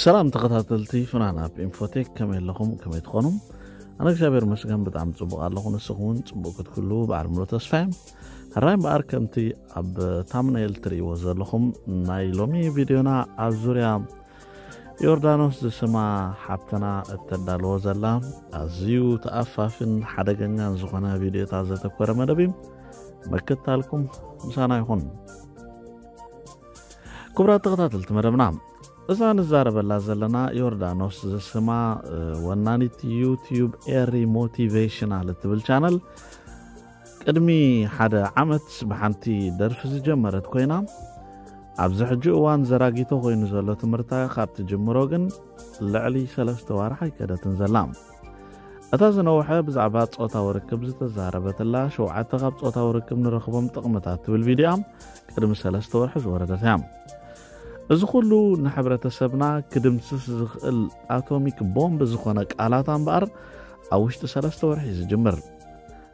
ሰላም ተኸታተልቲ ፍናን ኣብ ኢንፎቴክ፣ ከመይ ኣለኹም? ከመይ ትኾኑ? ኣነ እግዚኣብሔር መስገን ብጣዕሚ ጽቡቕ ኣለኹ። ንስኹም እውን ጽቡቕ ክትክሉ በዓል ምሎ ተስፋ እየ። ሕራይ እምበኣር ከምቲ ኣብ ታምነይል ትርእይዎ ዘለኹም ናይ ሎሚ ቪድዮና ኣብ ዙርያ ዮርዳኖስ ዝስማ ሓብትና እተዳልዎ ዘላ ኣዝዩ ተኣፋፍን ሓደገኛን ዝኾነ ቪድዮታት ዘተኮረ መደብ እዩ። ምክታልኩም ምሳና ይኹን። ክቡራት ተኸታተልቲ መደብና፣ እዛ ንዛረበላ ዘለና ዮርዳኖስ ዝስማ ወናኒት ዩቲዩብ ኤሪ ሞቲቬሽናል እትብል ቻነል ቅድሚ ሓደ ዓመት ብሓንቲ ደርፊ ዝጀመረት ኮይና፣ ኣብዚ ሕጂ እዋን ዘራጊቶ ኮይኑ ዘሎ ትምህርታ ካብ ትጅምሮ ግን ልዕሊ ሰለስተ ዋርሕ ኣይከደትን ዘላ። እታ ዝነውሐ ብዛዕባ ጾታዊ ርክብ ዝተዛረበትላ ሸውዓተ ካብ ጾታዊ ርክብ ንረኽቦም ጥቕምታት ትብል ቪድያ ቅድሚ ሰለስተ ወርሒ ዝወረደት እያ። እዚ ኩሉ ንሕብረተሰብና ክድምስስ ዝኽእል ኣቶሚክ ቦምብ ዝኾነ ቃላታ እምበኣር ኣብ ውሽጢ ሰለስተ ወርሒ እዩ ዝጅምር።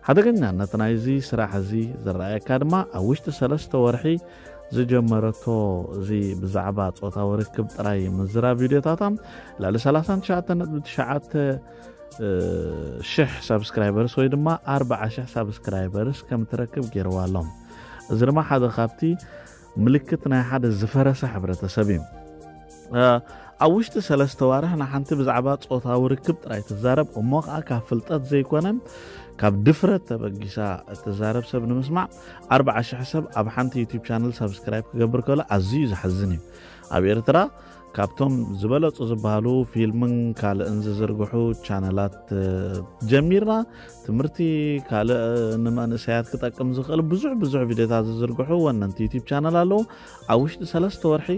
ሓደገኛነት ናይዚ ስራሕ እዚ ዝረኣየካ ድማ ኣብ ውሽጢ ሰለስተ ወርሒ ዝጀመረቶ እዚ ብዛዕባ ጾታዊ ርክብ ጥራይ ምዝራብ ቪድዮታታ ልዕሊ ሰላሳን ትሽዓተን ነጥቢ ትሽዓተ ሽሕ ሳብስክራይበርስ ወይ ድማ ኣርባዓ ሽሕ ሳብስክራይበርስ ከም ትረክብ ገይርዋ ኣሎ። እዚ ድማ ሓደ ካብቲ ምልክት ናይ ሓደ ዝፈረሰ ሕብረተሰብ እዩ። ኣብ ውሽጢ ሰለስተ ዋርሕ ንሓንቲ ብዛዕባ ጾታዊ ርክብ ጥራይ ትዛረብ እሞ ከዓ ካብ ፍልጠት ዘይኮነ ካብ ድፍረት ተበጊሳ እትዛረብ ሰብ ንምስማዕ ኣርባዓ ሽሕ ሰብ ኣብ ሓንቲ ዩቲዩብ ቻነል ሳብስክራይብ ክገብር ከሎ ኣዝዩ ዘሕዝን እዩ። ኣብ ኤርትራ ካብቶም ዝበለጹ ዝበሃሉ ፊልምን ካልእን ዝዝርግሑ ቻነላት ጀሚርና ትምህርቲ ካልእ ንመንእሰያት ክጠቅም ዝኽእል ብዙሕ ብዙሕ ቪድዮታት ዝዝርግሑ ወነንቲ ዩቲዩብ ቻነል ኣለዉ። ኣብ ውሽጢ ሰለስተ ወርሒ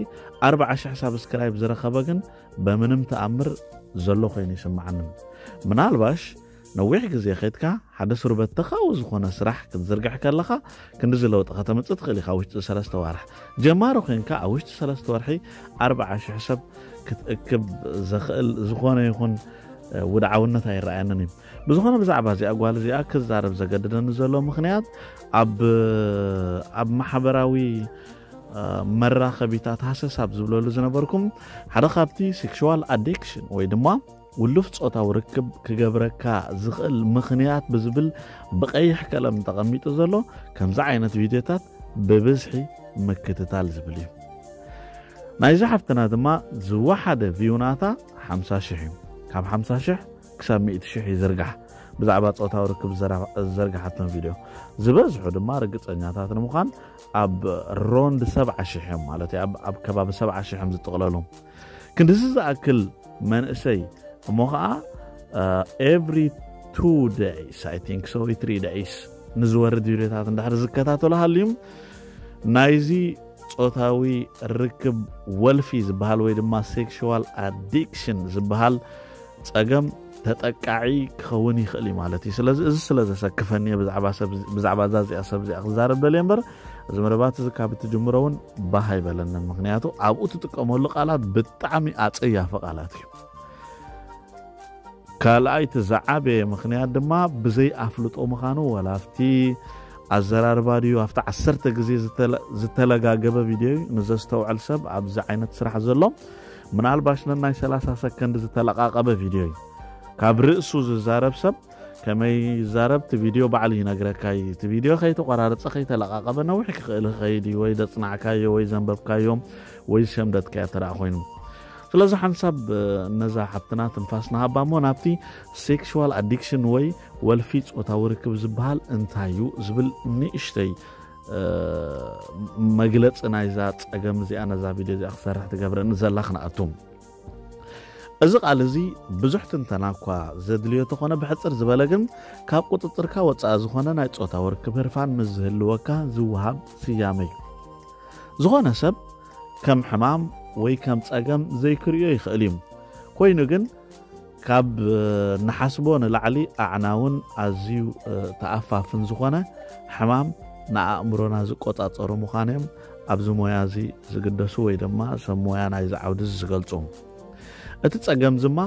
ኣርባዓ ሽሕ ሳብስክራይብ ዝረኸበ ግን በምንም ተኣምር ዘሎ ኮይኑ ይስምዓኒ። ምናልባሽ ነዊሕ ግዜ ከድካ ሓደ ስሩበት ተኻዊ ዝኾነ ስራሕ ክትዝርግሕ ከለኻ ክንድዚ ለውጢ ከተምጽእ ትኽእል ኢኻ። ውሽጢ ሰለስተ ዋርሕ ጀማሪ ኮይንካ ኣብ ውሽጢ ሰለስተ ወርሒ ኣርባዓ ሽሕ ሰብ ክትእክብ ዘኽእል ዝኾነ ይኹን ውድዓውነት ኣይረኣየንን እዩ። ብዝኾነ ብዛዕባ እዚኣ ጓል እዚኣ ክዛረብ ዘገድደኒ ዘሎ ምኽንያት ኣብ ኣብ ማሕበራዊ መራኸቢታት ሃሰስ ኣብ ዝብለሉ ዝነበርኩም ሓደ ካብቲ ሴክሽዋል ኣዲክሽን ወይ ድማ ውሉፍ ጾታዊ ርክብ ክገብረካ ዝኽእል ምኽንያት ብዝብል ብቐይሕ ቀለም ተቐሚጡ ዘሎ ከምዚ ዓይነት ቪድዮታት ብብዝሒ ምክትታል ዝብል እዩ። ናይዚ ሓፍትና ድማ ዝወሓደ ቪው ናታ ሓምሳ ሽሕ እዩ። ካብ ሓምሳ ሽሕ ክሳብ ሚእቲ ሽሕ ይዝርጋሕ። ብዛዕባ ጾታዊ ርክብ ዝዘርጋሓቶም ቪድዮ ዝበዝሑ ድማ ርግጸኛታት ንምዃን ኣብ ሮንድ ሰብዓ ሽሕ እዮም ማለት እዩ። ኣብ ከባቢ ሰብዓ ሽሕ እዮም ዝጥቕለሉ። ክንድዚ ዝኣክል መንእሰይ እሞ ከዓ every two days I think so three days ንዝወርድ ቪድዮታት እንድሕር ዝከታተሉ ሃልዩም ናይዚ ጾታዊ ርክብ ወልፊ ዝበሃል ወይ ድማ ሴክሽዋል ኣዲክሽን ዝበሃል ጸገም ተጠቃዒ ክኸውን ይኽእል እዩ ማለት እዩ። ስለዚ እዚ ስለ ዘሰክፈኒ እየ ብዛዕባ እዛ እዚኣ ሰብ እዚኣ ክዛረብ ደልየ እምበር እዚ መደባት እዚ ካብ እትጅምሮ እውን ባህ ኣይበለንን። ምክንያቱ ኣብኡ ትጥቀመሉ ቃላት ብጣዕሚ ኣጸያፊ ቃላት እዩ። ካልኣይ እቲ ዝዓበየ ምኽንያት ድማ ብዘይ ኣፍልጦ ምዃኑ ወላ ኣብቲ ኣዘራርባ ድዩ ኣብቲ ዓሰርተ ግዜ ዝተለጋገበ ቪድዮ እዩ። ንዘስተውዕል ሰብ ኣብዚ ዓይነት ስራሕ ዘሎ ምናልባሽ ነናይ ሰላሳ ሰከንድ ዝተለቃቀበ ቪድዮ እዩ። ካብ ርእሱ ዝዛረብ ሰብ ከመይ ይዛረብ እቲ ቪድዮ ባዕሉ ይነግረካ እዩ። እቲ ቪድዮ ከይተቆራረፀ ከይተለቃቀበ ነዊሕ ክኽእል ይኸይድ እዩ። ወይ ዘፅናዕካዮ ወይ ዘንበብካዮ ወይ ዝሸምደትካዮ ተደኣ ኮይኑ ስለዚ ሓንሳብ ነዛ ሓብትና ትንፋስ ንሃባ እሞ ናብቲ ሴክሽዋል ኣዲክሽን ወይ ወልፊ ጾታዊ ርክብ ዝበሃል እንታይ እዩ ዝብል ንእሽተይ መግለፂ ናይዛ ፀገም እዚኣ ነዛ ቪድዮ እዚኣ ክሰርሕ ትገብረኒ ዘላ ክነኣቱ። እዚ ቃል እዚ ብዙሕ ትንተና እኳ ዘድልዮ ተኾነ ብሕፅር ዝበለ ግን ካብ ቁፅፅርካ ወፃኢ ዝኾነ ናይ ጾታዊ ርክብ ህርፋን ምስ ዝህልወካ ዝወሃብ ስያመ እዩ። ዝኾነ ሰብ ከም ሕማም ወይ ከም ጸገም ዘይክርእዮ ይኽእል እዩ። ኮይኑ ግን ካብ ንሓስቦ ንላዕሊ ኣዕናውን ኣዝዩ ተኣፋፍን ዝኾነ ሕማም ንኣእምሮና ዝቆጻጸሩ ምዃኖም ኣብዚ ሞያ እዚ ዝግደሱ ወይ ድማ ሰብ ሞያ ናይዚ ዓውዲ እዚ ዝገልጹ። እቲ ጸገም ዝማ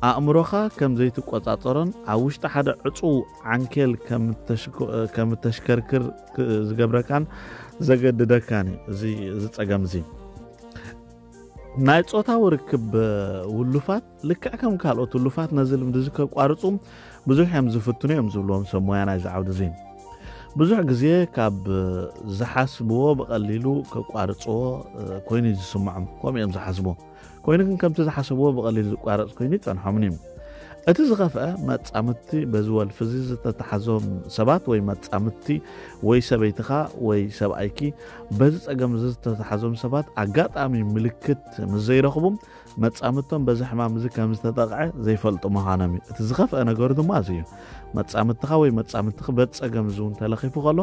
ኣእምሮኻ ከም ዘይትቆጻጸሮን ኣብ ውሽጢ ሓደ ዕጹው ዓንኬል ከም እተሽከርክር ዝገብረካን ዘገድደካን እዩ እዚ ጸገም እዚ። ናይ ጾታዊ ርክብ ውሉፋት ልክዕ ከም ካልኦት ውሉፋት ነዚ ልምዲ እዚ ከቋርጹ ብዙሕ እዮም ዝፍትኑ እዮም ዝብልዎም ሰብ ሞያ ናይዚ ዓውዲ እዚ። ብዙሕ ግዜ ካብ ዝሓስብዎ ብቐሊሉ ከቋርጽዎ ኮይኑ እዩ ዝስምዖም። ከምኡ እዮም ዝሓስቡ። ኮይኑ ግን ከምቲ ዝሓሰብዎ ብቐሊሉ ዝቋረጽ ኮይኑ ይጸንሖምን እዩ። እቲ ዝኸፍአ መጻምድቲ በዚ ወልፊ እዚ ዝተተሓዞም ሰባት ወይ መጻምድቲ ወይ ሰበይትኻ ወይ ሰብኣይኪ በዚ ጸገም እዚ ዝተተሓዞም ሰባት ኣጋጣሚ ምልክት ምስ ዘይረኽቡ መጻምድቶም በዚ ሕማም እዚ ከም ዝተጠቕዐ ዘይፈልጡ ምዃኖም እዩ። እቲ ዝኸፍአ ነገሩ ድማ እዚ እዩ። መጻምድትኻ ወይ መጻምድትኺ በዚ ጸገም እዚ እውን ተለኺፉ ከሎ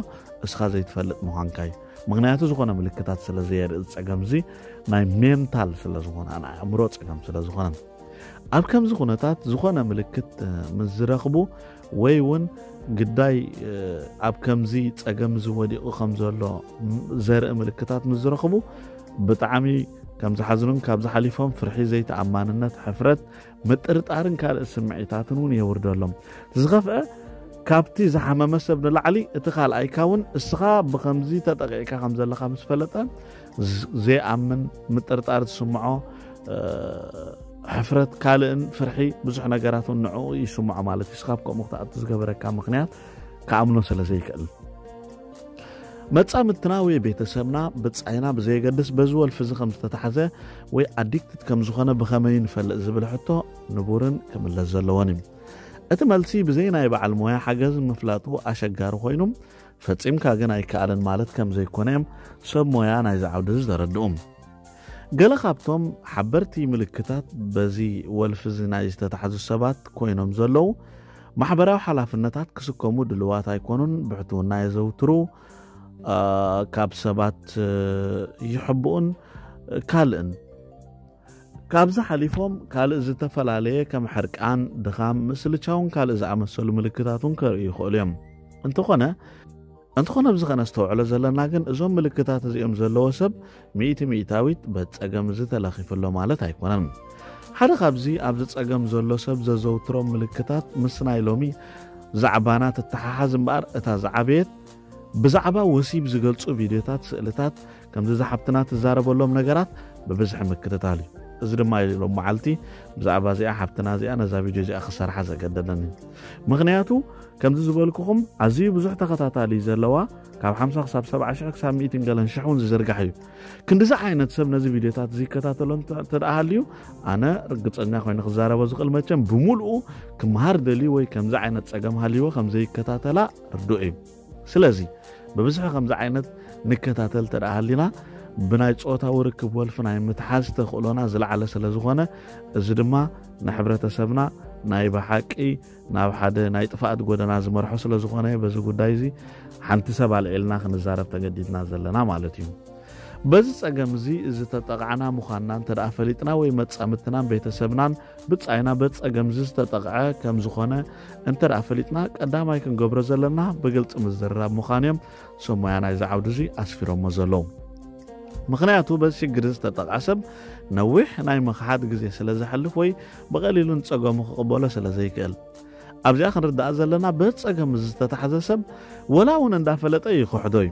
እስኻ ዘይትፈልጥ ምዃንካ እዩ። ምኽንያቱ ዝኾነ ምልክታት ስለ ዘየርኢ ጸገም እዚ ናይ ሜንታል ስለ ዝኾነ ናይ ኣእምሮ ጸገም ስለ ዝኾነ ኣብ ከምዚ ኩነታት ዝኾነ ምልክት ምስ ዝረኽቡ ወይ እውን ግዳይ ኣብ ከምዚ ጸገም እዚ ወዲቑ ከም ዘሎ ዘርኢ ምልክታት ምስ ዝረኽቡ ብጣዕሚ ከም ዝሓዝኑን ካብ ዝሓሊፎም ፍርሒ ዘይተኣማንነት ሕፍረት ምጥርጣርን ካልእ ስምዒታትን እውን የውርደሎም። ዝኸፍአ ካብቲ ዝሓመመ ሰብ ንላዕሊ እቲ ካልኣይካ እውን እስኻ ብከምዚ ተጠቂዕካ ከም ዘለኻ ምስ ፈለጠ ዘይኣምን ምጥርጣር ዝስምዖ ሕፍረት ካልእን ፍርሒ ብዙሕ ነገራት እውን ንዕኡ ይስምዖ ማለት እዩ። ስኻብ ከምኡ ክትኣቱ ዝገበረካ ምክንያት ክኣምኖ ስለ ዘይክእል መጻምድትና ወይ ቤተሰብና ብጻይና ብዘየገድስ በዚ ወልፊ እዚ ከም ዝተታሕዘ ወይ ኣዲክትድ ከም ዝኾነ ብኸመይ ንፈልጥ ዝብል ሕቶ ንቡርን ክምለስ ዘለዎን እዩ። እቲ መልሲ ብዘይ ናይ በዓል ሞያ ሓገዝ ምፍላጡ ኣሸጋሪ ኮይኑ ፈጺምካ ግን ኣይከኣልን ማለት ከም ዘይኮነ እዮም ሰብ ሞያ ናይዚ ዓውዲ እዚ ዘረድኡ። ገለ ካብቶም ሓበርቲ ምልክታት በዚ ወልፊ እዚ ናይ ዝተታሕዙ ሰባት ኮይኖም ዘለዉ ማሕበራዊ ሓላፍነታት ክስከሙ ድልዋት ኣይኮኑን፣ ብሕትውና የዘውትሩ፣ ካብ ሰባት ይሕብኡን ካልእን ካብዚ ሓሊፎም ካልእ ዝተፈላለየ ከም ሕርቃን፣ ድኻም፣ ምስልቻውን ካልእ ዝኣመሰሉ ምልክታት እውን ከርእዩ ይኽእሉ እዮም። እንተኾነ እንተኾነ ኣብዚ ከነስተውዕሎ ዘለና ግን እዞም ምልክታት እዚኦም ዘለዎ ሰብ ሚእቲ ሚእታዊት በቲ ጸገም እዚ ተለኺፉ ኣሎ ማለት ኣይኮነን። ሓደ ካብዚ ኣብዚ ጸገም ዘሎ ሰብ ዘዘውትሮም ምልክታት ምስ ናይ ሎሚ ዛዕባና ትተሓሓዝ እምበኣር እታ ዝዓበየት ብዛዕባ ወሲብ ዝገልጹ ቪድዮታት፣ ስእልታት፣ ከምዚ ዝሓብትና ትዛረበሎም ነገራት ብብዝሒ ምክትታል እዩ። እዚ ድማ ሎም መዓልቲ ብዛዕባ እዚኣ ሓብትና እዚኣ ነዛ ቪድዮ እዚኣ ክሰርሓ ዘገደደኒ ምክንያቱ ከምዚ ዝበልኩኹም ኣዝዩ ብዙሕ ተኸታታሊ ዘለዋ ካብ ሓምሳ ክሳብ ሰብዓ ሽሕ ክሳብ ሚእትን ገለን ሽሕ እውን ዝዝርጋሕ እዩ። ክንዲዚ ዓይነት ሰብ ነዚ ቪድዮታት ዝከታተሎ እንተ ደኣ ሃልዩ ኣነ ርግጸኛ ኮይኑ ክዛረቦ ዝኽእል መቸም ብምልኡ ክመሃር ደልዩ ወይ ከምዚ ዓይነት ጸገም ሃልይዎ ከም ዘይከታተላ ርዱእ እዩ። ስለዚ ብብዝሒ ከምዚ ዓይነት ንከታተል እንተ ደኣ ሃሊና ብናይ ጾታዊ ርክብ ወልፊ ናይ ምትሓዝ ተኽእሎና ዝለዓለ ስለ ዝኾነ እዚ ድማ ንሕብረተሰብና ናይ ብሓቂ ናብ ሓደ ናይ ጥፍኣት ጎደና ዝመርሖ ስለ ዝኾነ በዚ ጉዳይ እዚ ሓንቲ ሰብ ኣልዒልና ክንዛረብ ተገዲድና ዘለና ማለት እዩ። በዚ ጸገም እዚ ዝተጠቕዓና ምዃንና እንተ ደኣ ፈሊጥና ወይ መጻምድትናን ቤተሰብናን ብጻይና በዚ ጸገም እዚ ዝተጠቕዐ ከም ዝኾነ እንተ ደኣ ፈሊጥና ቀዳማይ ክንገብሮ ዘለና ብግልጺ ምዝርራብ ምዃን እዮም ሰብ ሞያ ናይዚ ዓውዲ እዚ ኣስፊሮሞ ዘለዉ። ምኽንያቱ በዚ ሽግር ዝተጠቕዐ ሰብ ነዊሕ ናይ ምኽሓድ ግዜ ስለ ዘሕልፍ ወይ ብቐሊሉ ንጸገሙ ክቕበሎ ስለ ዘይክእል ኣብዚኣ ክንርዳእ ዘለና በጸገም ዝተታሕዘ ሰብ ወላ እውን እንዳፈለጠ ይኽሕዶ እዩ።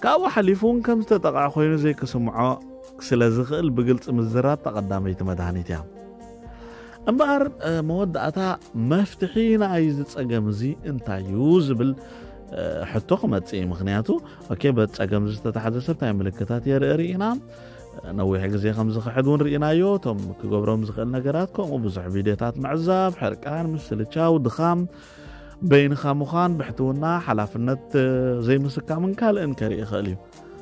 ካብኡ ሓሊፉ እውን ከም ዝተጠቕዐ ኮይኑ ዘይክስምዖ ስለ ዝኽእል ብግልጺ ምዝራብ ተቐዳመይቲ መድሃኒት እያ። እምበኣር መወዳእታ መፍትሒ ንኣይ ዝጸገም እዚ እንታይ እዩ ዝብል ሕቶ ክመጽእ እዩ። ምክንያቱ ኦኬ በጸገም ዝተታሕዘ ሰብ እንታይ ምልክታት የርኢ ርኢና ነዊሕ ግዜ ከም ዝኽሕድ እውን ርኢናዮ። እቶም ክገብሮም ዝኽእል ነገራት ከምኡ ብዙሕ ቪድዮታት ምዕዛብ፣ ሕርቃን፣ ምስልቻው፣ ድኻም፣ በይንኻ ምዃን፣ ብሕትውና፣ ሓላፍነት ዘይምስካምን ካልእን ከርኢ ይኽእል እዩ።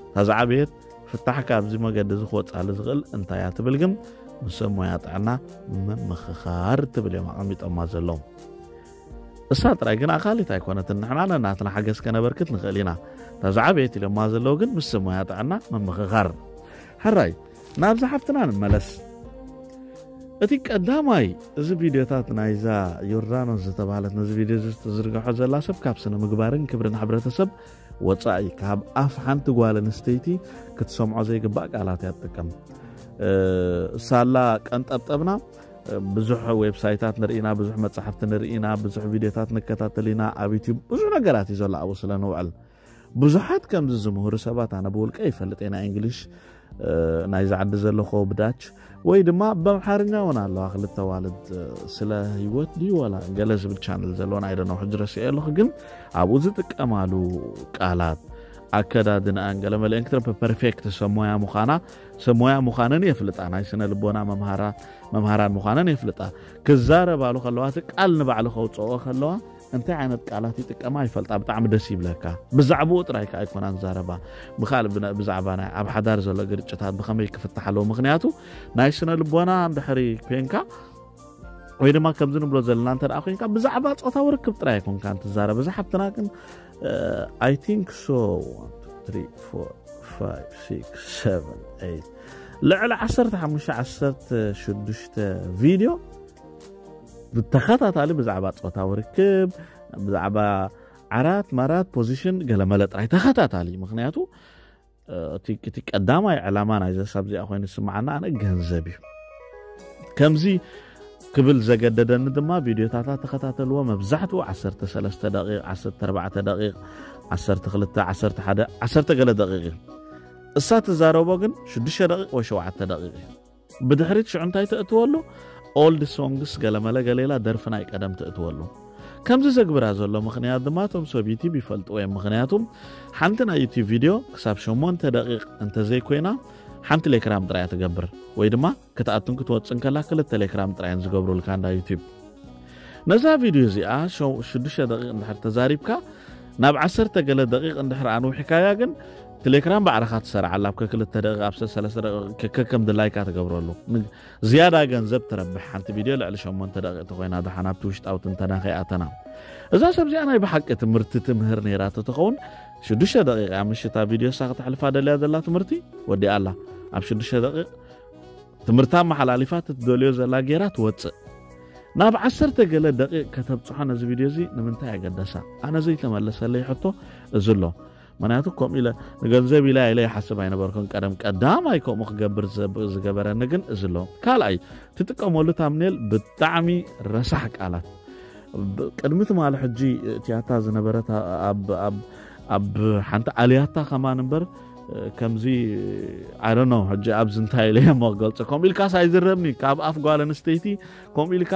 እታ ዝዓበየት ፍታሕ ካብዚ መገዲ እዚ ክወፅኣሉ ዝኽእል እንታይ እያ ትብል ግን ምስ ሰብ ሞያ ጥዕና ምምኽኻር ትብል እዮም ኣቐሚጦማ ዘለዉ። እሳ ጥራይ ግን ኣኻሊት ኣይኮነትን። ንሕና ነናትና ሓገዝ ከነበርክት ንኽእል ኢና። እታ ዝዓበየት ኢሎማ ዘለዉ ግን ምስ ሰብ ሞያ ጥዕና ምምኽኻር። ሕራይ ናብዚ ሓፍትና ንመለስ። እቲ ቀዳማይ እዚ ቪድዮታት ናይዛ ዮርዳኖስ ዝተባህለት ነዚ ቪድዮ እዚ ትዝርግሖ ዘላ ሰብ ካብ ስነ ምግባርን ክብርን ሕብረተሰብ ወጻኢ ካብ ኣፍ ሓንቲ ጓል ኣንስተይቲ ክትሰምዖ ዘይግባእ ቃላት እያ ትጥቀም። ሳላ ቀንጠብጠብና ብዙሕ ዌብሳይታት ንርኢና፣ ብዙሕ መጻሕፍቲ ንርኢና፣ ብዙሕ ቪድዮታት ንከታተል ኢና። ኣብ ዩቲዩብ ብዙሕ ነገራት እዩ ዘሎ ኣብኡ ስለ ንውዕል ብዙሓት ከምዚ ዝምህሩ ሰባት ኣነ ብውልቀ ይፈልጥ እየ። ናይ እንግሊሽ ናይዚ ዓዲ ዘሎ ኮብዳች ወይ ድማ ብኣምሓርኛ እውን ኣለዋ። ክልተ ዋልድ ስለ ህይወት ድዩ ዋላ ገለ ዝብል ቻነል ዘለወን ኣይደነው ሕጂ ረስኤ ኣለኹ። ግን ኣብኡ ዝጥቀማሉ ቃላት ኣከዳድንኣን ገለ መለ እንክትረፈ ፐርፌክት ሰሞያ ምዃና ሰሞያ ምዃነን የፍልጣ። ናይ ስነ ልቦና መምሃራ መምሃራን ምዃነን የፍልጣ። ክዛረባሉ ከለዋ እቲ ቃል ንባዕሉ ከውፅኦ ከለዋ እንታይ ዓይነት ቃላት ይጥቀማ ይፈልጣ። ብጣዕሚ ደስ ይብለካ። ብዛዕባኡ ጥራይ ከዓ ኣይኮናን ዛረባ። ብካልእ ብነ- ብዛዕባ ናይ ኣብ ሓዳር ዘሎ ግርጭታት ብኸመይ ክፍታሕ ኣለዎ። ምክንያቱ ናይ ስነ ልቦና እንድሕሪ ኮንካ ወይ ድማ ከምዚ ንብሎ ዘለና እንተ ደኣ ኮንካ ብዛዕባ ጾታዊ ርክብ ጥራይ ኣይኮንካን ትዛረብ። እዛ ሓብትና ግን I think so one two three four five six seven eight ልዕሊ ዓሰርተ ሓሙሽተ ዓሰርተ ሽዱሽተ ቪድዮ ብተኸታታሊ ብዛዕባ ጾታዊ ርክብ ብዛዕባ ዓራት ማራት ፖዚሽን ገለመለ ጥራይ ተኸታታሊ። ምክንያቱ እቲ ቀዳማይ ዕላማ ናይዘ ሳብ እዚኣ ኮይኑ ዝስምዓና ኣነ ገንዘብ እዩ። ከምዚ ክብል ዘገደደኒ ድማ ቪድዮታታ ተኸታተልዎ። መብዛሕትኡ ዓሰርተ ሰለስተ ደቂቕ፣ ዓሰርተ ኣርባዕተ ደቂቕ፣ ዓሰርተ ክልተ፣ ዓሰርተ ሓደ፣ ዓሰርተ ገለ ደቂቕ እዩ። እሳ ትዛረቦ ግን ሽዱሽተ ደቂቕ ወይ ሸውዓተ ደቂቕ እዩ። ብድሕሪት ሽዑ እንታይ ተእትወሉ? ኦልድ ሶንግስ ገለመለ ገሌላ ደርፊ ናይ ቀደም ተእትወሉ። ከምዚ ዘግብራ ዘሎ ምኽንያት ድማ እቶም ሰብ ዩቲብ ይፈልጥዎ እዮም። ምኽንያቱም ሓንቲ ናይ ዩቲብ ቪድዮ ክሳብ ሸሞንተ ደቂቕ እንተዘይኮይና ሓንቲ ሌክራም ጥራያ ትገብር ወይ ድማ ክትኣቱን ክትወፅን ከላ ክልተ ሌክራም ጥራየን ዝገብሩልካ እንዳ ዩቲብ። ነዛ ቪድዮ እዚኣ ሸው- ሽዱሽተ ደቂቕ እንድሕር ተዛሪብካ ናብ ዓሰርተ ገለ ደቂቕ እንድሕር ኣንውሕካያ ግን ቴሌክራም ባዕልኻ ትሰርዓላ ኣብ ከክልተ ደቂቕ ኣብ ሰለስተ ደቂቕ ከከም ድላይካ ትገብረሉ። ዝያዳ ገንዘብ ትረብሕ ሓንቲ ቪድዮ ልዕሊ ሸሞንተ ደቂቕ ተኾይና ደሓን ኣብቲ ውሽጣዊ ትንተና ከይኣተና። እዛ ሰብ እዚኣ ናይ ብሓቂ ትምህርቲ ትምህር ነይራ ተትኸውን ሽዱሽተ ደቂቕ ኣብ ምሽታ ቪድዮ እሳ ክተሕልፋ ደልያ ዘላ ትምህርቲ ወዲኣ ኣላ። ኣብ ሽዱሽተ ደቂቕ ትምህርታ ኣመሓላሊፋ ትትደልዮ ዘላ ጌራ ትወፅእ። ናብ ዓሰርተ ገለ ደቂቕ ከተብፅሖ ነዚ ቪድዮ እዚ ንምንታይ ኣገደሳ? ኣነ ዘይተመለሰለይ ሕቶ እዚ ኣሎ። ምክንያቱ ከምኡ ኢለ ንገንዘብ ኢለ ኢለ ይሓስብ ኣይነበርኩን። ቀደም ቀዳማይ ከምኡ ክገብር ዝገበረኒ ግን እዚ ኣሎ። ካልኣይ ትጥቀመሉ ታምኔል ብጣዕሚ ረሳሕ ቃላት። ቅድሚ ትማሊ ሕጂ እቲኣታ ዝነበረት ኣብ ሓንቲ ኣልያታ ከማን እምበር ከምዚ ኣረኖ ሕጂ ኣብዚ እንታይ ኢለ እሞ ክገልፆ። ከምኡ ኢልካ ሳይዝረብኒ ካብ ኣፍ ጓል ኣንስተይቲ ከምኡ ኢልካ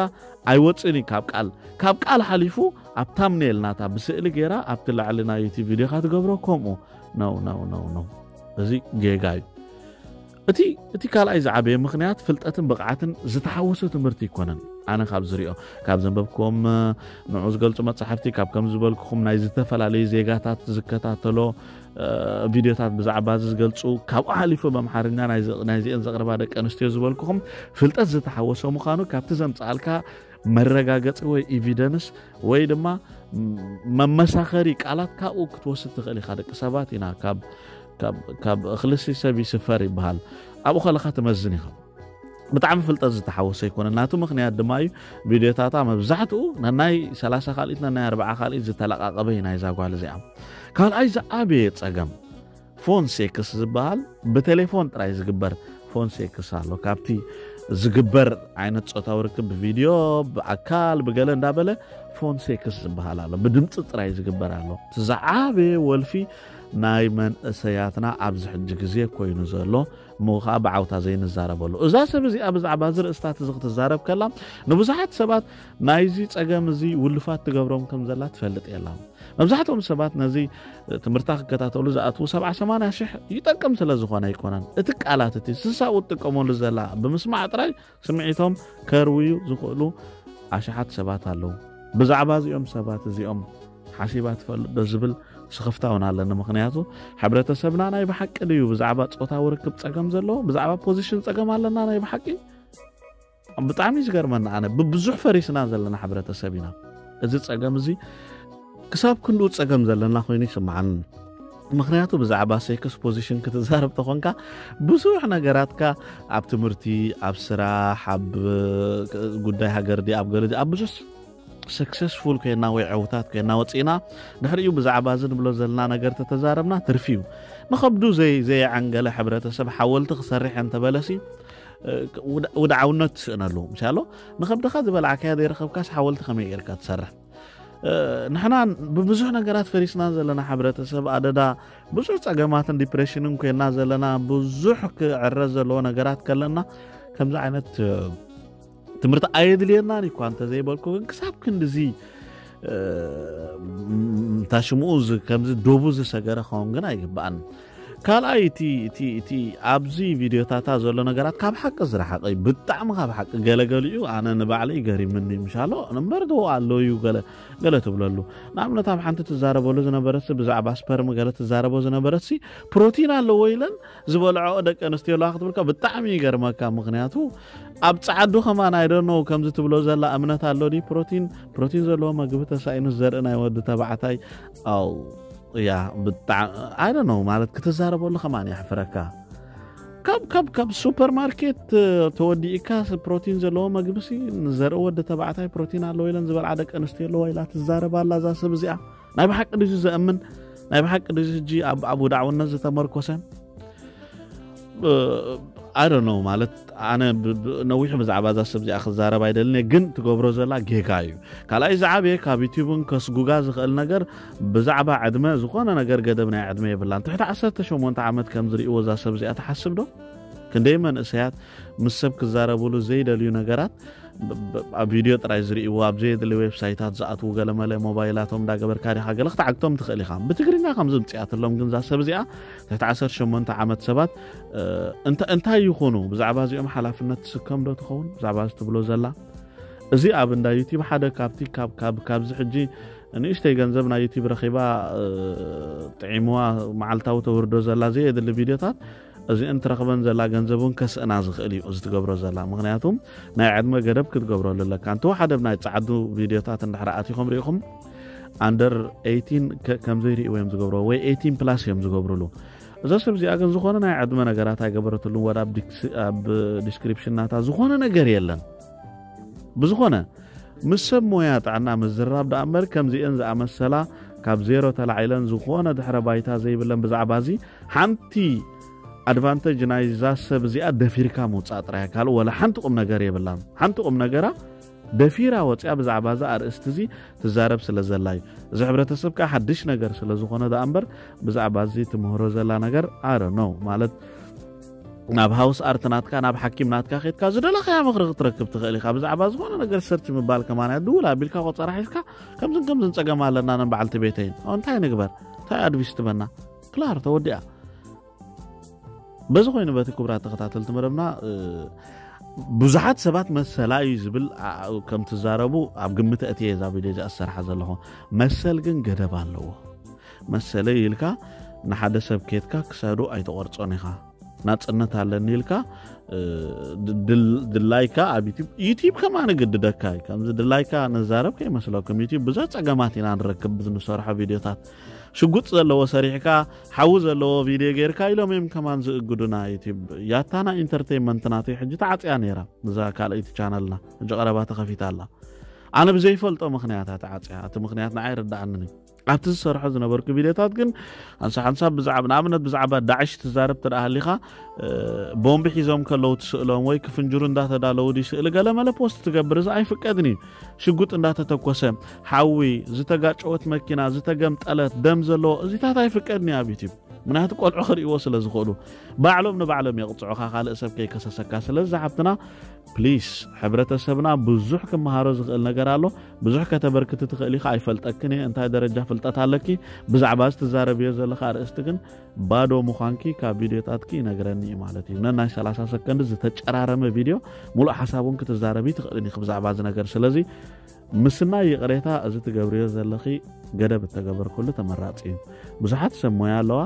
ኣይወፅእን እዩ ካብ ቃል ካብ ቃል ሓሊፉ ኣብ ታምኔል ናታ ብስእሊ ገይራ ኣብቲ ላዕሊ ናይ ዩቲብ ቪድዮካ ትገብሮ ከምኡ ነው ነው ነው ነው። እዚ ጌጋ እዩ። እቲ እቲ ካልኣይ ዝዓበየ ምኽንያት ፍልጠትን ብቕዓትን ዝተሓወሶ ትምህርቲ ኣይኮነን። ኣነ ካብ ዝሪኦ ካብ ዘንበብክዎም ንዑ ዝገልፁ መፅሓፍቲ ካብ ከም ዝበልኩኹም ናይ ዝተፈላለዩ ዜጋታት ዝከታተሎ ቪድዮታት ብዛዕባ እዚ ዝገልፁ ካብኡ ሓሊፉ ብኣምሓርኛ ናይዚአን ዘቕርባ ደቂ ኣንስትዮ ዝበልኩኹም ፍልጠት ዝተሓወሶ ምዃኑ ካብቲ ዘምፅኣልካ መረጋገፂ ወይ ኢቪደንስ ወይ ድማ መመሳኸሪ ቃላት ካብኡ ክትወስድ ትኽእል ኢኻ። ደቂ ሰባት ኢና ካብ እኽልሲ ሰብ ይስፈር ይበሃል። ኣብኡ ከለኻ ትመዝን ኢኻ። ብጣዕሚ ፍልጠት ዝተሓወሰ ኣይኮነን። ናቱ ምኽንያት ድማ እዩ ቪድዮታታ መብዛሕትኡ ነናይ ሰላሳ ካልኢት ነናይ ኣርባዓ ካልኢት ዝተለቃቀበ እዩ ናይዛ ጓል እዚኣ። ካልኣይ ዝዓበየ ፀገም ፎን ሴክስ ዝበሃል ብቴሌፎን ጥራይ ዝግበር ፎን ሴክስ ኣሎ። ካብቲ ዝግበር ዓይነት ፆታዊ ርክብ ብቪድዮ ብኣካል ብገለ እንዳበለ ፎን ሴክስ ዝበሃል ኣሎ። ብድምፂ ጥራይ ዝግበር ኣሎ። እቲ ዝዓበየ ወልፊ ናይ መንእሰያትና ኣብዚ ሕጂ ግዜ ኮይኑ ዘሎ እሞ ከዓ ብዓውታ ዘይንዛረበሉ። እዛ ሰብ እዚኣ ብዛዕባ እዚ ርእስታት እዚ ክትዛረብ ከላ ንብዙሓት ሰባት ናይዚ ፀገም እዚ ውልፋት ትገብሮም ከም ዘላ ትፈልጥ የላ። መብዛሕትኦም ሰባት ነዚ ትምህርታ ክከታተሉ ዝኣትዉ ሰብዓ ሰማንያ ሽሕ ይጠቅም ስለ ዝኾነ ኣይኮነን። እቲ ቃላት እቲ ስሳኡ ትጥቀመሉ ዘላ ብምስማዕ ጥራይ ስምዒቶም ከርውዩ ዝኽእሉ ኣሽሓት ሰባት ኣለዉ። ብዛዕባ እዚኦም ሰባት እዚኦም ሓሲባ ትፈልጥ ዶ ዝብል ስኽፍታ እውን ኣለኒ። ምኽንያቱ ሕብረተሰብና ናይ ብሓቂ ድዩ ብዛዕባ ፆታዊ ርክብ ፀገም ዘለዎ ብዛዕባ ፖዚሽን ፀገም ኣለና ናይ ብሓቂ ብጣዕሚ እዩ ዝገርመኒ። ኣነ ብብዙሕ ፈሪስና ዘለና ሕብረተሰብ ኢና። እዚ ፀገም እዚ ክሳብ ክንድኡ ፀገም ዘለና ኮይኑ ይስምዓኒ። ምክንያቱ ብዛዕባ ሴክስ ፖዚሽን ክትዛረብ ተኾንካ ብዙሕ ነገራትካ ኣብ ትምህርቲ ኣብ ስራሕ ኣብ ጉዳይ ሃገር ዲ ኣብ ገለ ኣብ ብዙሕ ሰክሰስፉል ኮይና ወይ ዕውታት ኮይና ወፂእና ድሕሪኡ ብዛዕባ እዚ ንብሎ ዘለና ነገር ተተዛረብና ትርፊ እዩ። ንኸብዱ ዘይ ዘየዐንገለ ሕብረተሰብ ሓወልቲ ክሰርሕ እንተበለሲ ውድዓውነት ትስእነሉ ምሻሎ ንኸብድኻ ዝበላዕካያ ዘይረኸብካስ ሓወልቲ ከመይ ጌርካ ትሰርሕ? ንሕና ብብዙሕ ነገራት ፈሪስና ዘለና ሕብረተሰብ ኣደዳ ብዙሕ ጸገማትን ዲፕሬሽንን ኮይና ዘለና ብዙሕ ክዕረ ዘለዎ ነገራት ከለና ከምዚ ዓይነት ትምህርቲ ኣየድልየናን እኳ እንተዘይበልኩ ግን ክሳብ ክንድዚ ታሽምኡ ከምዚ ዶቡ ዝሰገረ ኸውን ግን ኣይግባእን። ካልኣይ እቲ ኣብዚ ቪድዮታታ ዘሎ ነገራት ካብ ሓቂ ዝረሓቀ እዩ። ብጣዕሚ ካብ ሓቂ ገለገሊኡ ኣነ ንባዕለይ ገሪምኒ ምሻሎ እምበር ዶ ኣሎ እዩ ገለ ትብለሉ። ንኣብነት ኣብ ሓንቲ ትዛረበሉ ዝነበረሲ ብዛዕባ ስፐርም ገለ ትዛረቦ ዝነበረሲ ፕሮቲን ኣለዎ ኢለን ዝበልዖ ደቂ ኣንስትዮ ኣለዋ ክትብልካ ብጣዕሚ ይገርመካ። ምክንያቱ ኣብ ጸዓዱ ከማን ኣይደኖ ከምዚ ትብሎ ዘላ እምነት ኣሎ ድዩ ፕሮቲን ፕሮቲን ዘለዎ መግቢ ተሳኢኑ ዘርኢ ናይ ወዲ ተባዕታይ ኣው እያ ብጣዕሚ ኣይደኖ ማለት ክትዛረበሉ ከማን የሕፍረካ። ካብ ካብ ካብ ሱፐርማርኬት ተወዲእካ ፕሮቲን ዘለዎ መግቢ ሲ ንዘርኢ ወዲ ተባዕታይ ፕሮቲን ኣለዎ ኢለን ዝበልዓ ደቂ ኣንስትዮ ኣለዋ ኢላ ትዛረብ ኣላ እዛ ሰብ እዚኣ። ናይ ብሓቂ ድዩ ዘእምን? ናይ ብሓቂ ድዩ ሕጂ ኣብ ኣብ ውዳዕውነት ዝተመርኮሰ? I don't know ማለት ኣነ ነዊሕ ብዛዕባ እዛ ሰብ እዚኣ ክዛረብ ኣይደልን እየ፣ ግን ትገብሮ ዘላ ጌጋ እዩ። ካልኣይ ዝዓበየ ካብ ዩቲዩብን ከስጉጋ ዝኽእል ነገር ብዛዕባ ዕድመ ዝኾነ ነገር ገደብ ናይ ዕድመ የብላን። ትሕቲ ዓሰርተ ሸሞንተ ዓመት ከም ዝርእይዎ እዛ ሰብ እዚኣ ትሓስብ ዶ? ክንደይ መንእሰያት ምስ ሰብ ክዛረብሉ ዘይደልዩ ነገራት ኣብ ቪድዮ ጥራይ ዝርእይዎ ኣብ ዘየድሊ ዌብሳይታት ዝኣትዉ ገለመለ ሞባይላቶም እንዳገበርካ ዲኻ ገለ ክትዓግቶም ትኽእል ኢኻ። ብትግርኛ ከም ዝምፅኣትሎም ግን እዛ ሰብ እዚኣ ትሕቲ ዓሰርተ ሸሞንተ ዓመት ሰባት እንታይ ይኹኑ ብዛዕባ እዚኦም ሓላፍነት ትስከም ዶ ትኸውን ብዛዕባ እዚ ትብሎ ዘላ? እዚ ኣብ እንዳ ዩቲብ ሓደ ካብቲ ካብዚ ሕጂ ንእሽተይ ገንዘብ ናይ ዩቲብ ረኺባ ጥዒምዋ መዓልታዊ ተውርዶ ዘላ ዘየድሊ ቪድዮታት እዚአን ትረኽበን ዘላ ገንዘብ እውን ከስእና ዝኽእል እዩ እዚ ትገብሮ ዘላ። ምክንያቱም ናይ ዕድመ ገደብ ክትገብረሉ ኣለካ። እንተወሓደ ናይ ጸዓዱ ቪድዮታት እንድሕር ኣቲኹም ርኢኹም ኣንደር ኤይቲን ከም ዘይርእይዎ እዮም ዝገብርዎ ወይ ኤይቲን ፕላስ እዮም ዝገብርሉ። እዛ ሰብ እዚኣ ግን ዝኾነ ናይ ዕድመ ነገራት ኣይገበረትሉን። ወላ ኣብ ዲስክሪፕሽን ናታ ዝኾነ ነገር የለን። ብዝኾነ ምስ ሰብ ሞያ ጥዕና ምዝራብ ደኣ እምበር ከምዚአን ዝኣመሰላ ካብ ዜሮ ተላዒለን ዝኾነ ድሕረ ባይታ ዘይብለን ብዛዕባ እዚ ሓንቲ ኣድቫንተጅ ናይዛ ሰብ እዚኣ ደፊርካ ምውፃእ ጥራይ ካልእ ወላ ሓንቲ ቁም ነገር የብላን። ሓንቲ ቁም ነገራ ደፊራ ወፂኣ ብዛዕባ እዚ ኣርእስቲ እዚ ትዛረብ ስለ ዘላ እዩ። እዚ ሕብረተሰብ ከዓ ሓድሽ ነገር ስለ ዝኾነ ደኣ እምበር ብዛዕባ እዚ ትምህሮ ዘላ ነገር ኣረ ነው ማለት ናብ ሃውስ ኣርት ናትካ ናብ ሓኪም ናትካ ኬድካ ዝደለኻያ ምኽሪ ክትረክብ ትኽእል ኢኻ። ብዛዕባ ዝኾነ ነገር ሰርች ምባል ከማን እያ። ድውል ኣቢልካ ቆፀራ ሒዝካ ከምዝን ከምዝን ፀገም ኣለና ን በዓልቲ ቤተይን እንታይ ንግበር እንታይ ኣድቪስ ትበና ክላር ተወዲኣ። በዚ ኮይኑ በቲ ክቡራት ተኸታተልቲ መደብና ብዙሓት ሰባት መሰላ እዩ ዝብል ከም ትዛረቡ ኣብ ግምት እቲ እዛ ቪድዮ እዚኣ ዝሰርሓ ዘለኹ። መሰል ግን ገደብ ኣለዎ። መሰለይ ኢልካ ንሓደ ሰብ ኬድካ ክሳዱ ኣይተቆርጾን ኢኻ። ናጽነት ኣለኒ ኢልካ ድላይካ ኣብ ዩቲብ ዩቲብ ከማን ግድደካ እዩ። ከምዚ ድላይካ ንዛረብ ከይመስለኩም ዩቲብ ብዙሕ ጸገማት ኢና ንረክብ ብዝንሰርሖ ቪድዮታት። ሽጉጥ ዘለዎ ሰሪሕካ ሓዊ ዘለዎ ቪድዮ ጌርካ ኢሎም እዮም ከማን ዝእግዱና። ዩቲብ ያታና ኢንተርቴንመንት ናተይ ሕጂ ተዓጽያ ነይራ። እዛ ካልኣይቲ ቻነልና ሕጂ ቀረባ ተኸፊታ ኣላ። ኣነ ብዘይፈልጦ ምኽንያት እያ ተዓጽያ። እቲ ምኽንያት ንዓይ ኣይርድኣንን እዩ። ኣብቲ ዝሰርሖ ዝነበርኩ ቪድዮታት ግን ሓንሳ ሓንሳብ ብዛዕባ ንኣብነት ብዛዕባ ዳዕሽ ትዛረብ ተደኣ ሃሊኻ ቦምቢ ሒዞም ከለዉ ትስእሎም ወይ ክፍንጅሩ እንዳተዳለዉ ድዩ ስእሊ ገለመለ ፖስት ትገብር እዚ ኣይፍቀድን እዩ። ሽጉጥ እንዳተተኮሰ ሓዊ ዝተጋጨወት መኪና ዝተገምጠለት ደም ዘለዎ እዚታት ኣይፍቀድን እዩ ኣብ ዩቲብ። ምክንያቱ ቆልዑ ክርእይዎ ስለ ዝኽእሉ ባዕሎም ንባዕሎም የቕፅዑኻ ካልእ ሰብ ከይከሰሰካ። ስለዚ ሓብትና ፕሊስ ሕብረተሰብና ብዙሕ ክመሃሮ ዝኽእል ነገር ኣሎ። ብዙሕ ከተበርክቲ ትኽእል ኢኻ ኣይፈልጠክን እየ እንታይ ደረጃ ፍልጠት ኣለኪ። ብዛዕባ እዚ ትዛረብዮ ዘለኻ ኣርእስቲ ግን ባዶ ምዃንኪ ካብ ቪድዮታትኪ ይነግረኒ እዩ ማለት እዩ። ነናይ ሰላሳ ሰከንድ ዝተጨራረመ ቪድዮ ሙሉእ ሓሳብ እውን ክትዛረቢ ትኽእልን ኢኺ ብዛዕባ እዚ ነገር። ስለዚ ምስናይ ይቕሬታ እዚ ትገብርዮ ዘለኺ ገደብ እተገበርኩሉ ተመራፂ እዩ። ብዙሓት ሰብ ሞያ ኣለዋ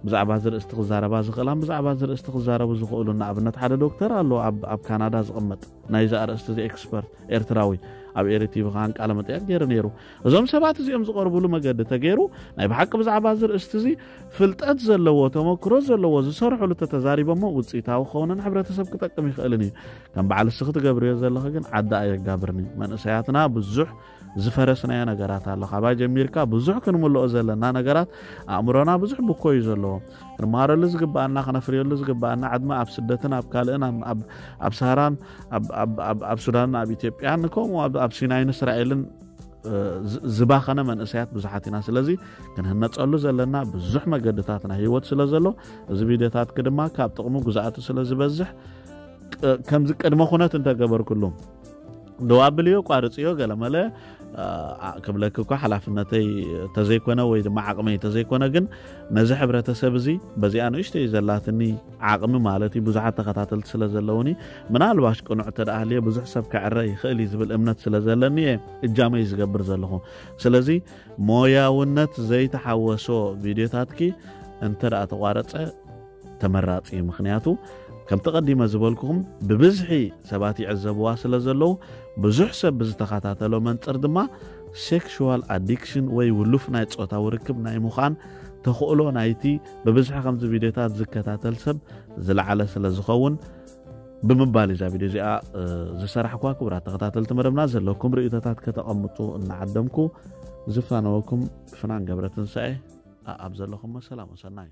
ብዛዕባ እዚ ርእስቲ ክዛረባ ዝኽእላን ብዛዕባ እዚ ርእስቲ ክዛረቡ ዝኽእሉ ንኣብነት ሓደ ዶክተር ኣሎ ኣብ ካናዳ ዝቕመጥ ናይዚ ኣርእስቲ እዚ ኤክስፐርት ኤርትራዊ ኣብ ኤሪ ቲቪ ከዓን ቃለ መጠየቅ ገይሩ ነይሩ። እዞም ሰባት እዚኦም ዝቐርቡሉ መገዲ ተገይሩ ናይ ብሓቂ ብዛዕባ እዚ ርእስቲ እዚ ፍልጠት ዘለዎ ተመክሮ ዘለዎ ዝሰርሕሉ ተተዛሪቦሞ ውፅኢታዊ ክኸውን ንሕብረተሰብ ክጠቅም ይኽእልን እዩ። ከም በዓል እስኺ ትገብርዮ ዘለኺ ግን ዓዲ ኣየጋብርን እዩ። መንእሰያትና ብዙሕ ዝፈረስናዮ ነገራት ኣሎ። ካባይ ጀሚርካ ብዙሕ ክንምልኦ ዘለና ነገራት ኣእምሮና ብዙሕ ብኮ እዩ ዘለዎ። ክንመሃረሉ ዝግባኣና ክነፍርየሉ ዝግባኣና ዕድመ ኣብ ስደትን ኣብ ካልእን ኣብ ሳህራን ኣብ ሱዳንን ኣብ ኢትዮጵያን ከምኡ ኣብ ሲናይን እስራኤልን እ፣ ዝ-፣ ዝባኸነ መንእሰያት ብዙሓት ኢና። ስለዚ ክንህነጸሉ ዘለና ብዙሕ መገድታት ናይ ህይወት ስለ ዘሎ፣ እዚ ቪድዮታትኪ ድማ ካብ ጥቕሙ ጉዝኣቱ ስለ ዝበዝሕ፣ ቅ-፣ ከምዚ ቅድመ ኩነት እንተገበርኩሉ፣ ደው ኣብልዮ፣ ቋርጽዮ፣ ገለመለ፣ እ፣ ኣ-፣ ክብለኪ እኳ ሓላፍነተይ ተዘይኮነ ወይ ድማ ዓቕመይ ተዘይኮነ፣ ግን ነዚ ሕብረተሰብ እዚ በዚኣ ንእሽተይ ዘላትኒ ዓቕሚ ማለት እዩ፣ ብዙሓት ተኸታተልቲ ስለ ዘለውኒ፣ ምናልባሽ ቅኑዕ እንተ ደኣ ሃልየ ብዙሕ ሰብ ክዕረ ይኽእል እዩ ዝብል እምነት ስለ ዘለኒ እየ እጃመይ ዝገብር ዘለኹ። ስለዚ ሞያውነት ዘይተሓወሶ ቪድዮታትኪ እንተ ደኣ ተቋረጸ ተመራጺ እዩ። ምኽንያቱ ከምቲ ቀዲመ ዝበልኩኹም ብብዝሒ ሰባት ይዕዘብዋ ስለ ዘለዉ፣ ብዙሕ ሰብ ብዝተኸታተሎ መንጽር ድማ ሴክሹዋል ኣዲክሽን ወይ ውሉፍ ናይ ጾታዊ ርክብ ናይ ምዃን ተኽእሎ ናይቲ ብብዝሒ ከምዚ ቪድዮታት ዝከታተል ሰብ ዝለዓለ ስለ ዝኸውን ብምባል እዛ ቪድዮ እዚኣ፣ እ፣ ዝሰራሕኳ። ክቡራት ተኸታተልቲ መደብና ዘለኩም ርእይቶታት ከተቐምጡ እናዓደምኩ ዝፋነወኩም ፍናን ገብረ ትንሳኤ፣ ኣ-፣ ኣብ ዘለኹም ሰላም ወሰናይ።